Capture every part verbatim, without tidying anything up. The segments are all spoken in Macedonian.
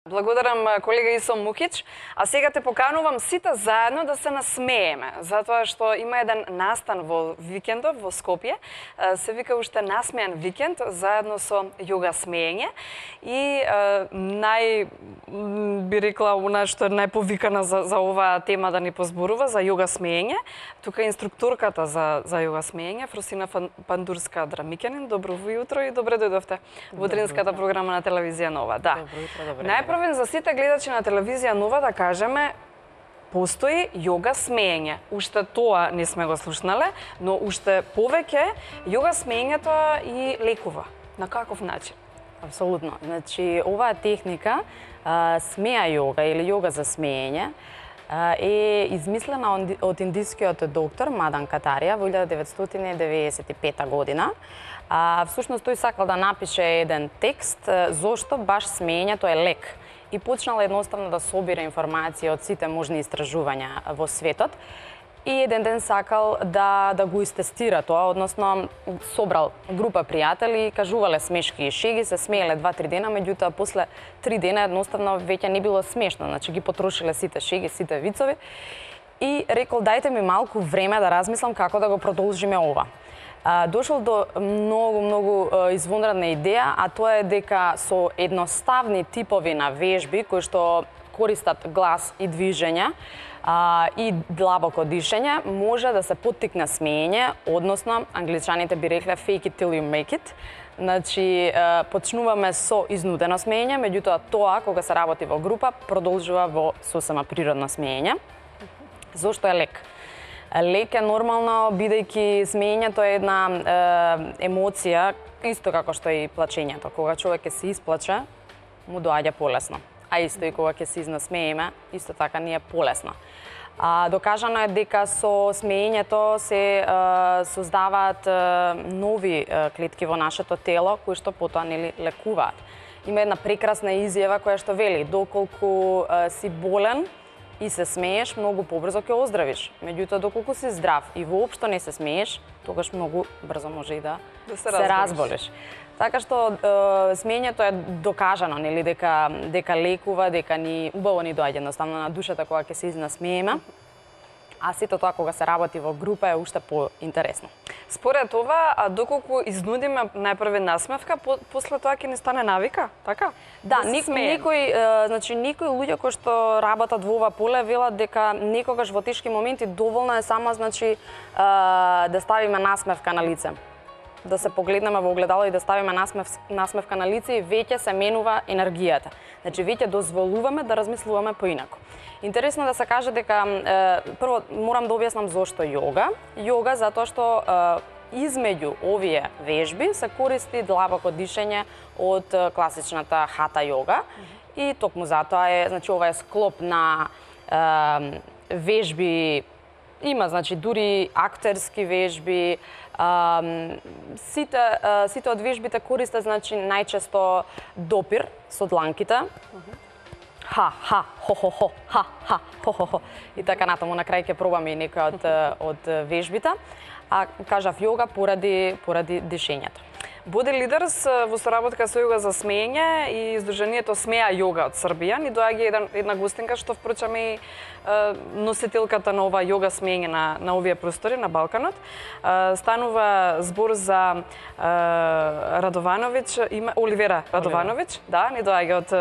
Благодарам колега Исом Мукич, а сега те поканувам сите заедно да се насмееме, затоа што има еден настан во викендов во Скопје, се вика уште насмејан викенд, заедно со јога смеење и нај би рекла она што е најповикана за, за оваа тема да ни позборува за јога смеење. Тука е инструкторката за за јога смеење, Фросина Пандурска Драмикјанин. Добро јутро и добре дојдовте во утринската програма на телевизија Нова. Да. Добро јутро, добре. Најпрво за сите гледачи на телевизија Нова да кажеме, постои јога смеење. Уште тоа не сме го слушнале, но уште повеќе јога смеењето и лекува. На каков начин? Апсолутно. Значи, оваа техника, а, смеа јога или јога за смеење, а, е измислена од индискиот доктор Мадан Катарија во илјада деветстотини деветдесет и пета година. А, всушност тој сакал да напише еден текст зошто баш смеењето е лек. И почнал едноставно да собира информација од сите можни истражувања во светот. И еден ден сакал да, да го истестира тоа, односно собрал група пријатели, кажувале смешки и шеги, се смееле два-три дена, меѓутоа после три дена едноставно веќе не било смешно, значи ги потрошиле сите шеги, сите вицови и рекол дајте ми малку време да размислам како да го продолжиме ова. А, дошол до многу, многу извонредна идеја, а тоа е дека со едноставни типови на вежби, кои што користат глас и движења, а, и длабоко дишење, може да се поттикне смеење, односно, англичаните би рекле fake it till you make it. Значи, почнуваме со изнудено смеење, меѓутоа тоа, кога се работи во група, продолжува во сосема природно смеење. Зошто е лек? Лек е нормално, бидејќи смеењето е една е, емоција, исто како што и плачењето. Кога човек ќе се исплаче, му доаѓа полесно. А исто и кога ќе се изнасмееме, исто така ни е полесно. А, докажано е дека со смеењето се е, создаваат е, нови е, клетки во нашето тело, кои што потоа нели лекуваат. Има една прекрасна изјава која што вели, доколку е, си болен, и се смееш, многу побрзо ќе оздравиш. Меѓутоа, доколку си здрав и воопшто не се смееш, тогаш многу брзо може и да, да се, се разболиш. Така што е, смеењето е докажано, нели, дека дека лекува, дека ни убаво ни доаѓа едноставно на душата кога ќе се изнасмееме. А сето тоа кога се работи во група е уште поинтересно. Според ова, а доколку изнудиме најпрве насмевка, по, после тоа ќе ни стане навика, така? Да, да никој, никој, е, значи никои луѓе кои што работат во ова поле велат дека некогаш во тешки моменти доволно е само значи е, да ставиме насмевка на лице. Да се погледнеме во огледало и да ставиме насмев, насмевка на лице и веќе се менува енергијата. Значи веќе дозволуваме да размислуваме поинаку. Интересно да се каже дека е, прво морам да објаснам зошто јога. Јога затоа што е, измеѓу овие вежби се користи длабоко дишење од класичната хата јога. И токму затоа е, значи ова е склоп на е, вежби. Има, значи, дури актерски вежби, а, сите, а, сите од вежбите користат, значи, најчесто допир со дланките. Ха, ха, хо, хо, хо, ха, ха, хо, хо, хо. И така натаму, на крај ќе пробаме и некој од, од вежбите. А кажав јога поради, поради дишењето. Боди Лидерс во соработка со јога за смеење и издруженијето Смеа јога од Србија ни доаѓа една, една гостинка што впрочем и носителката на ова јога смеење на, на овие простори на Балканот. Станува збор за Радовановиќ, има Оливера Радовановиќ, да, ни доаѓа од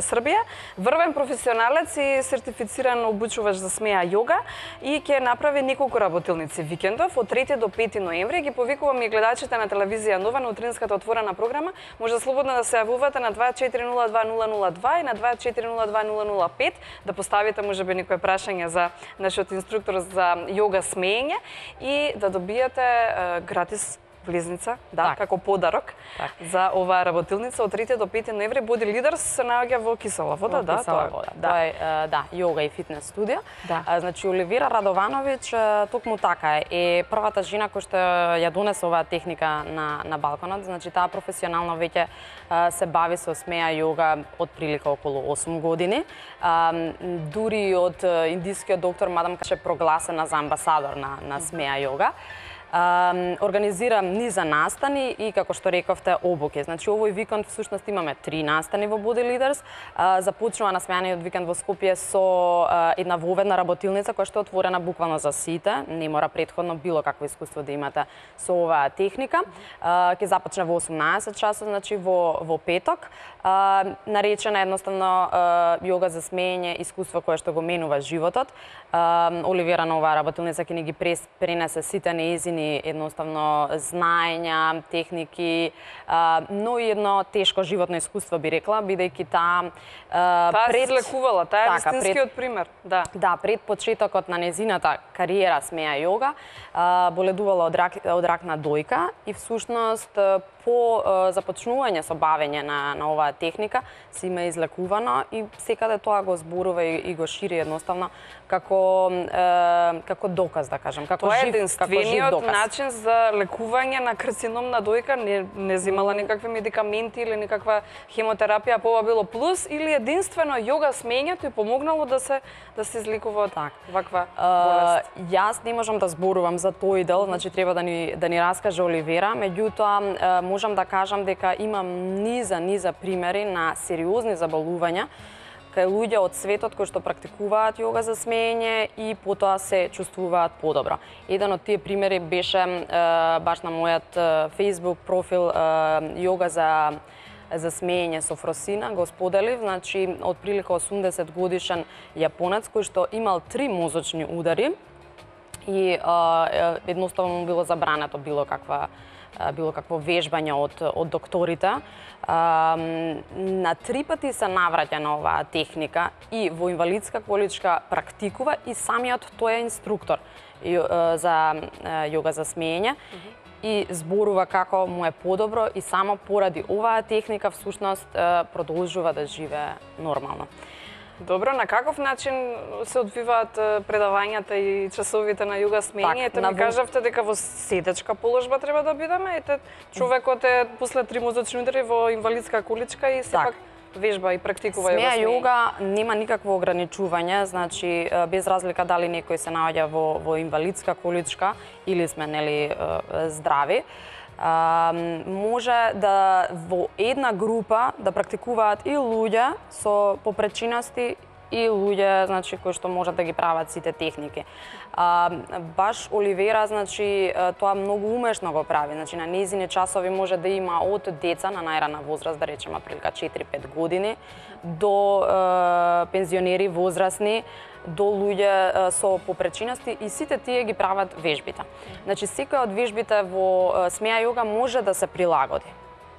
Србија. Врвен професионалец и сертифициран обучувач за Смеа јога и ќе направи неколку работилници викендов од трети до пети ноември. Ги повикувам и гледачите на телевизија Нова на утринската отворена програма. Може слободно да се јавувате на два четири нула два нула нула два и на два четири нула два нула нула пет да поставите можеби некое прашање за нашиот инструктор за јога смеење и да добиете е, гратис влезница, да, так, како подарок так, за оваа работилница од трети до пети ноември. Боди Лидерс се наоѓа во Кисела вода, да, Кисела вода. Да. Тоа е, да, јога и фитнес студио. Да. А, значи Оливера Радовановиќ токму така е првата жена која што ја донесе оваа техника на на Балканот. Значи таа професионално веќе се бави со Смеа јога од прилика околу осум години. А, дури од индискиот доктор Мадам Каше прогласена за амбасадор на на Смеа јога. организира низа настани и, како што рековте, обуки. Значи, овој викенд всушност имаме три настани во Body Leaders. Започнува насмеаниот викенд во Скопје со една воведна работилница која што е отворена буквално за сите. Не мора претходно било какво искуство да имате со оваа техника. Ќе започне во осумнаесет часот, значи во во петок. Наречена едноставно јога за смеење, искуство кое што го менува животот. Оливера на оваа работилница ќе ни ги пренесе сите неизини едноставно знаења, техники, но и едно тешко животно искуство би рекла, бидејќи таа таа пред... се излекувала, таа е така, вистинскиот пред... пример. Да. Да, пред почетокот на незината кариера смеа јога, боледувала од рак, од рак на дојка и всушност по започнување со бавење на, на оваа техника се има излекувано и секаде тоа го зборува и, и го шири едноставно како е, како доказ, да кажам, како тоа жив, е единствениот начин за лекување на карцином на дојка, не не земала никакви медикаменти или никаква хемотерапија, по ова било плюс или единствено јога смењето и помогнало да се да се излекува од так. ваква болест. Uh, јас не можам да зборувам за тој дел, значи треба да ни да ни раскаже Оливера, меѓутоа uh, можам да кажам дека имам низа низа примери на сериозни заболувања кај луѓе од светот кои што практикуваат јога за смеење и потоа се чувствуваат подобро. Еден од тие примери беше uh, баш на мојот uh, Facebook профил uh, јога за за смеење со Фросина, го споделив, значи од прилика осумдесет годишен јапонец кој што имал три мозочни удари и а, едноставно му било забрането било каква било какво вежбање од од докторите. А, на три пати се навраќа на оваа техника и во инвалидска количка практикува и самиот тој е инструктор за јога за смеење. И зборува како му е подобро и само поради оваа техника всушност продолжува да живее нормално. Добро, на каков начин се одвиваат предавањата и часовите на јога смеење? Ете ми кажавте дека во седечка положба треба да бидеме, ете човекот е после три мозочни удари во инвалидска количка и сепак вежба и практикува јога смеење. Смеа јога нема никакво ограничување, значи без разлика дали некој се наоѓа во во инвалидска количка или сме нели здрави. А, може да во една група да практикуваат и луѓе со попречиности и луѓе значи кои што можат да ги прават сите техники. А, баш Оливера значи тоа многу умешно го прави. Значи на нејзини часови може да има од деца на најрана возраст, да речеме прилика четири-пет години, до е, пензионери возрастни, до луѓе со попречиности и сите тие ги прават вежбите. Значи секоја од вежбите во смеа јога може да се прилагоди.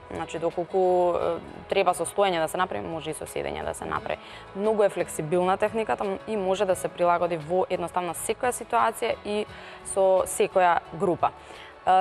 Значи доколку треба со стоење да се направи, може и со седење да се направи. Многу е флексибилна техниката и може да се прилагоди во едноставно секоја ситуација и со секоја група.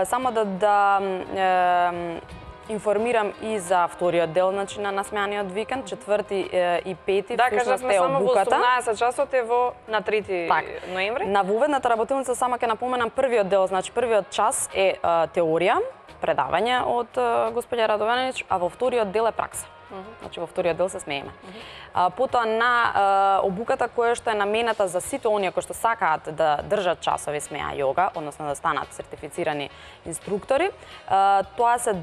Само да да е, информирам и за вториот дел значи на насмеаниот викенд, четврти и пети, да, кажавме само во осумнаесет часот е во на трети так. ноември. На воведната работилница само ќе напоменам првиот дел, значи првиот час е а, теорија, предавање од а, господја Радованич, а во вториот дел е пракса. Uh -huh. Значи во вториот дел се смееме. Uh -huh. а, потоа на а, обуката која што е намената за сите оние кои што сакаат да држат часови смеа јога, односно да станат сертифицирани инструктори, а, тоа се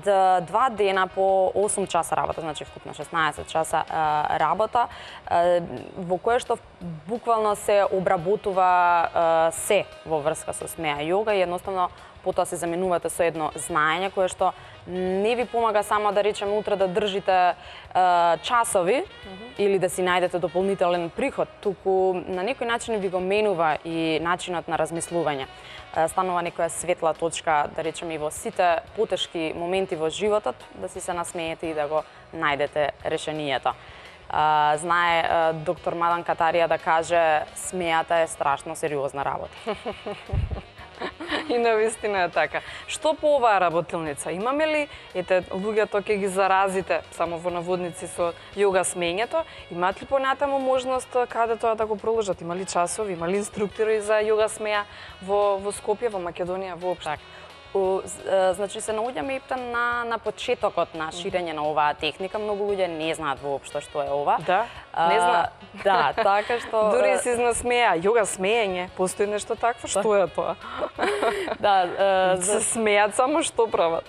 два дена по осум часа работа, значи вкупно шеснаесет часа а, работа, а, во кое што буквално се обработува а, се во врска со смеа јога и едноставно потоа се заменувате со едно знаење кое што не ви помага само да речеме утре да држите е, часови mm -hmm. или да си најдете дополнителен приход, туку на некој начин ви го менува и начинот на размислување. Е, станува некоја светла точка, да речеме и во сите потешки моменти во животот, да си се насмеете и да го најдете решението. Uh, знае uh, доктор Мадан Катарија да каже смејата е страшно сериозна работа. И навистина е така. Што по оваа работилница? Имаме ли, ете, луѓето ќе ги заразите само во наводници со јога смењето, имаат ли понатаму можност каде тоа да го проложат? Има ли часови, има ли инструктори за јога смеа во, во Скопје, во Македонија воопшто? значи се наоѓаме ептен на на почетокот на ширење на оваа техника. Многу луѓе не знаат воопшто што е ова. Да, не знаат. Да, така што дури се изнасмеа, јога смеење, постои нешто такво, што е тоа? Да, се смеат само што прават.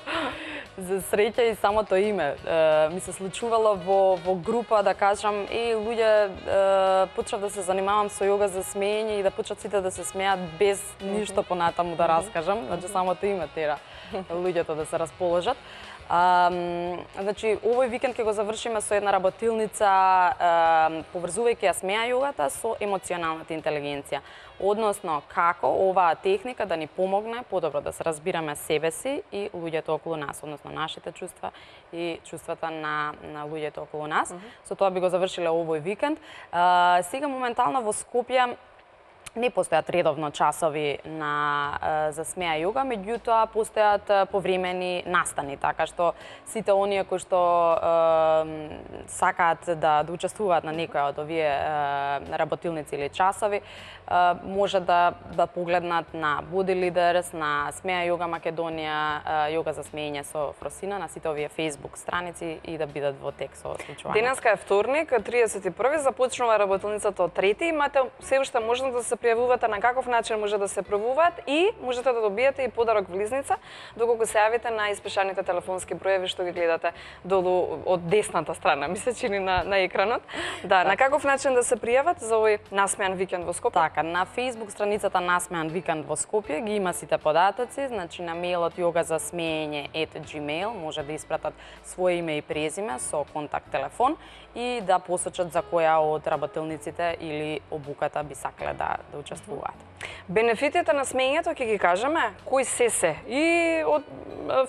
За среќа и самото име е, ми се случувало во во група да кажам и луѓе е, почнав да се занимавам со јога за смеење и да почнат сите да се смеат без ништо понатаму да раскажам, значи самото име тера луѓето да се расположат. А, значи, овој викенд ќе го завршиме со една работилница, а, поврзувајќи ја смеа јогата со емоционалната интелигенција. Односно, како оваа техника да ни помогне подобро да се разбираме себе си и луѓето околу нас, односно нашите чувства и чувствата на, на луѓето околу нас. Mm -hmm. Со тоа би го завршиле овој викенд. А, сега моментално во Скопје не постојат редовно часови на за смеа јога, меѓутоа постојат повремени настани, така што сите оние кои што е, сакаат да, да учествуваат на некоја од овие е, работилници или часови, е, може да да погледнат на Body Leaders, на Смеа јога Македонија, јога за смеење со Фросина, на сите овие Facebook страници и да бидат во тек со случувањето. Денеска е вторник, триесет и први, започнува работилницата од трети, имате се уште можност да се пријавувате на каков начин може да се пробуваат и можете да добиете и подарок влизница доколку се јавите на испишаните телефонски броеви што ги гледате долу од десната страна, ми се чини на, на екранот. Да, на каков начин да се пријават за овој насмеан викенд во Скопје? Така, на Facebook страницата Насмеан викенд во Скопје ги има сите податоци, значи на мејлот јога за смеење ет gmail може да испратат своје име и презиме со контакт телефон и да посочат за која од работилниците или обуката би сакале да, да учествуваат. Бенефитите на смеењето ќе ги кажеме, кои се се, и од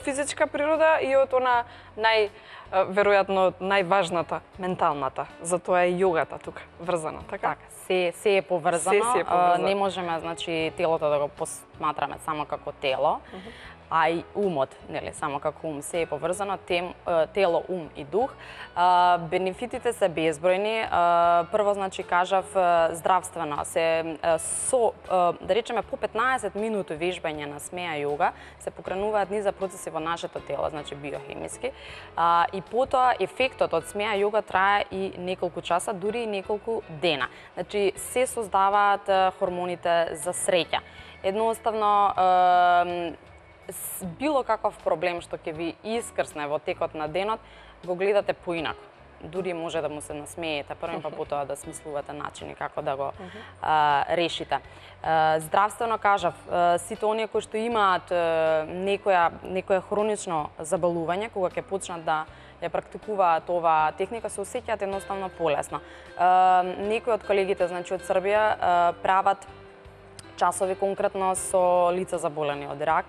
физичка природа и од она нај веројатно најважната, менталната. Затоа е јогата тука врзана, така? Така, се се е поврзано. Се, се е поврзано. Не можеме, значи, телото да го посматраме само како тело. Uh -huh. А и умот, нели, само како ум, се е поврзано, тем, тело, ум и дух. А, бенефитите се безбројни. А, прво, значи, кажав, здравствено, се со, да речеме, по петнаесет минути вежбање на смеа јога се покренуваат низа процеси во нашето тело, значи биохемиски. А, и потоа ефектот од смеа јога трае и неколку часа, дури и неколку дена. Значи, се создаваат хормоните за среќа. Едноставно, било каков проблем што ќе ви искрсне во текот на денот, го гледате поинако. Дури може да му се насмеете прво, па потоа да смислувате начини како да го а, решите. А, здравствено кажав, а, сите оние кои што имаат а, некоја некое хронично заболување, кога ќе почнат да ја практикуваат оваа техника, се осеќаат едноставно полесно. А, некои од колегите, значи од Србија, а, прават часови конкретно со лица заболени од рак,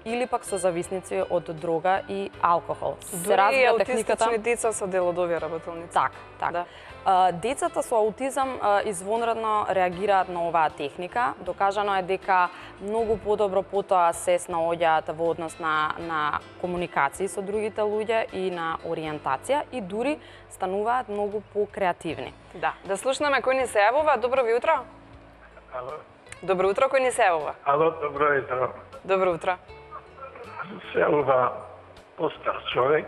или пак со зависници од дрога и алкохол. Се развива техниката. Дури деца се дел од овие работилници. Так, так. Да. А, децата со аутизам а, извонредно реагираат на оваа техника. Докажано е дека многу подобро потоа се снаоѓаат во однос на, на комуникација со другите луѓе и на ориентација и дури стануваат многу покреативни. Да, да слушнеме кој ни се јавува. Добро ви утро. Ало. Добро утро, кој ни се јавува. Ало, добро утро. Добро утро. Се јавува постар човек.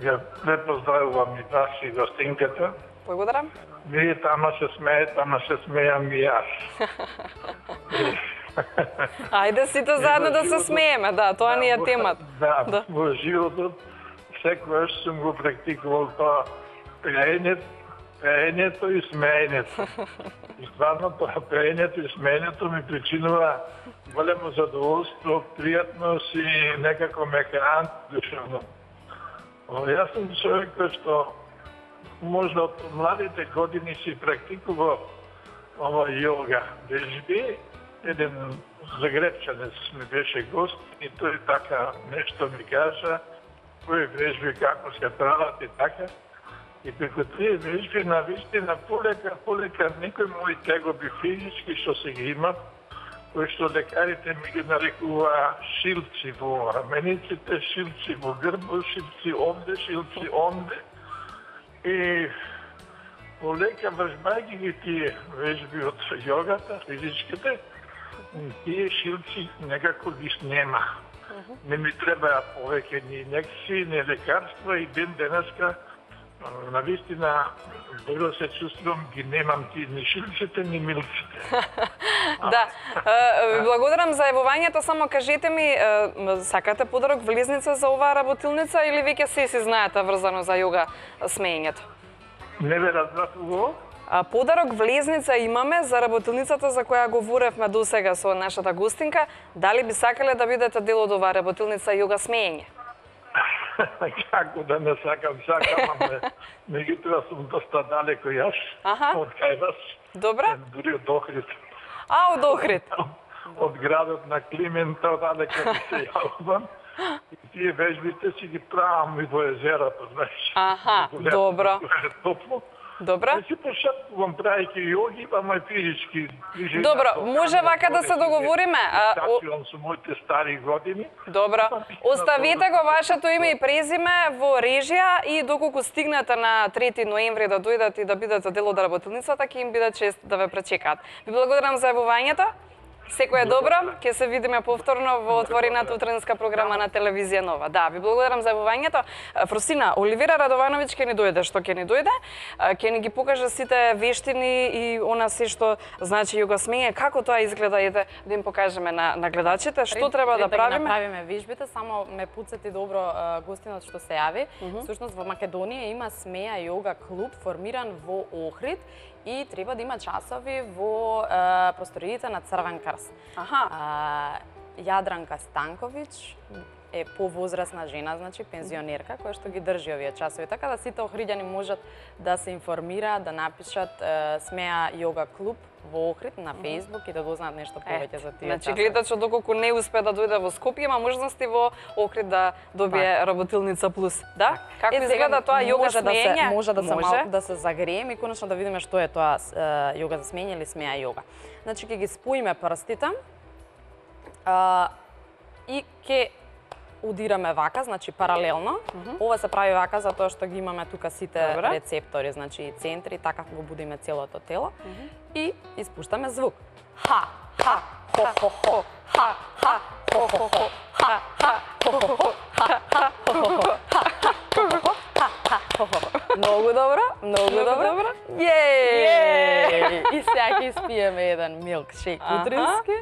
Ја не поздравувам и вас и гостинката. Благодарам. Вие тама се смеете, тама се смејам и јас. Ајде сите заедно да се смееме, да, тоа ни е темата. Да, да, во животот секогаш сум го практикувал тоа пеењето, пеењето и смеењето. И стварно тоа пеењето и смеењето ми причинува големо задоволство, пријатност и некако ме храни душевно. Јас сум човек кој што можда од младите години си практикува ова јога вежби. Еден загребчанец ми беше гост и тој така нешто ми кажа, кои вежби како се прават и така. И преку тие вежби на вистина полека, полека некои мои тегоби физички што се ги имам, кои што лекарите ми ги нарекуваа шилци во рамениците, шилци во грбо, шилци овде, шилци онде. И полека вржбајќи ги тие вежби од јогата, физичките, тие шилци некако ги снема. Не ми требаја повеќе ни инекции, ни лекарства и ден денеска навистина добро се чувствувам, ги немам ти ни шилците, ни милците. Да, ви благодарам за јавувањето, само кажете ми, сакате подарок влезница за оваа работилница или веќе се си знаете врзано за јога смеењето? Не ве разбрав уво? Подарок влезница имаме за работилницата за која говоревме досега со нашата гостинка. Дали би сакале да бидете дел од оваа работилница јога смеење? Како да не сакам, сакам, ама меѓутоа сум доста далеко јас од кај вас. Добра. Дури од Охрид. А, од Охрид. Од градот на Климента, далеко ми се јавувам. И тие вежбите си ги правам и во езерото, знаеш. Аха, добро. Топло. Добро. Не си пошапувам правејќи јоги, ама физички движења. Добро, може вака да се договориме. Стачувам со моите стари години. Добро. Оставите го вашето име и презиме во режија и доколку стигнете на трети ноември да дојдат и да бидете дел од работилницата, ќе им биде чест да ве пречекаат. Ви благодарам за јавувањето. Секој е добро, ќе се видиме повторно во отворената утренска програма на телевизија Нова. Да, ви благодарам за јавувањето. Фросина, Оливира Радовановиќ ќе ни дојде, што ќе ни дојде, ќе ни ги покаже сите вештини и она се што значи јога смење, како тоа изгледа, ете да им покажеме на, на гледачите, што треба да правиме. Да направиме вежбите, само ме пуцати добро гостинот што се јави. Всушност во Македонија има Смеја јога клуб формиран во Охрид и треба да има часови во е, просториите на Црвен крст. Аха. А, Јадранка Станковиќ е повозрасна жена, значи пензионерка, која што ги држи овие часови. Така да сите охриѓани можат да се информираат, да напишат е, Смеја јога клуб во Охрид на Facebook и да дознаат нешто повеќе за тие значи, часови. гледачот доколку не успе да дојде во Скопје, има можности во Охрид да добие так. Работилница плюс. Да? Како Е, изгледа тоа јога може смеење? Да се, може да се може. малку да се загрееме и конечно да видиме што е тоа е, јога за смеење или Смеја јога. Значи ќе ги споиме прстите а, и ќе удираме вака, значи паралелно. Mm -hmm. Ова се прави вака затоа што ги имаме тука сите Добре. рецептори, значи центри, така го будиме целото тело. Mm -hmm. И испуштаме звук. Ха, ха, хо, хо, хо, ха, ха, хо, хо, хо, ха, ха, хо, хо, хо, ха, ха, хо, хо, хо, ха, ха, хо, хо, хо, ха, ха, хо, хо. Многу добро, многу добро. Јеј! И сега ќе испиеме еден милкшейк утрински.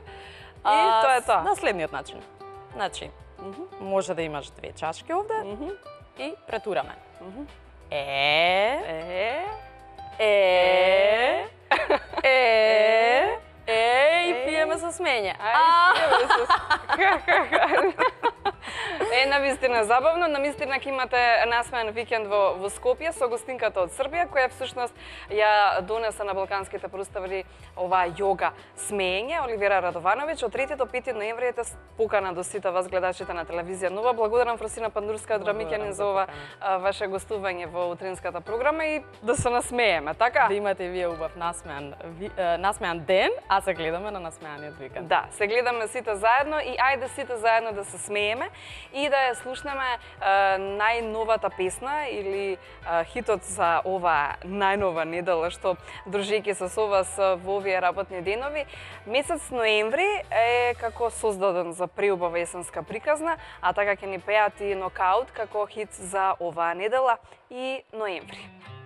И тоа е тоа. На следниот начин. Значи, mm -hmm. може да имаш две чашки овде mm -hmm. и претураме. Mm -hmm. Е, Е, е, е, е, и пиеме со смење. Ај, пиеме со Е, навистина забавно, навистина ќе имате насмеан викенд во, во Скопје со гостинката од Србија, која всушност ја донесе на балканските простави оваа јога смеење, Оливира Радовановиќ. Од трети до пети ноември ете покана до сите вас гледачите на телевизија Нова. Благодарам Фросина Пандурска од Рамикјанин за ова а, ваше гостување во утринската програма и да се насмееме, така? Да имате вие убав насмеан, ви, е, насмеан ден, а се гледаме на насмеаниот викенд. Да, се гледаме сите заедно и ајде сите заедно да се смееме и да ја слушнеме е, најновата песна или е, хитот за ова најнова недела што дружејќи се со вас во овие работни денови. Месец ноември е како создаден за преубава есенска приказна, а така ќе ни пеат и Нокаут како хит за оваа недела и ноември.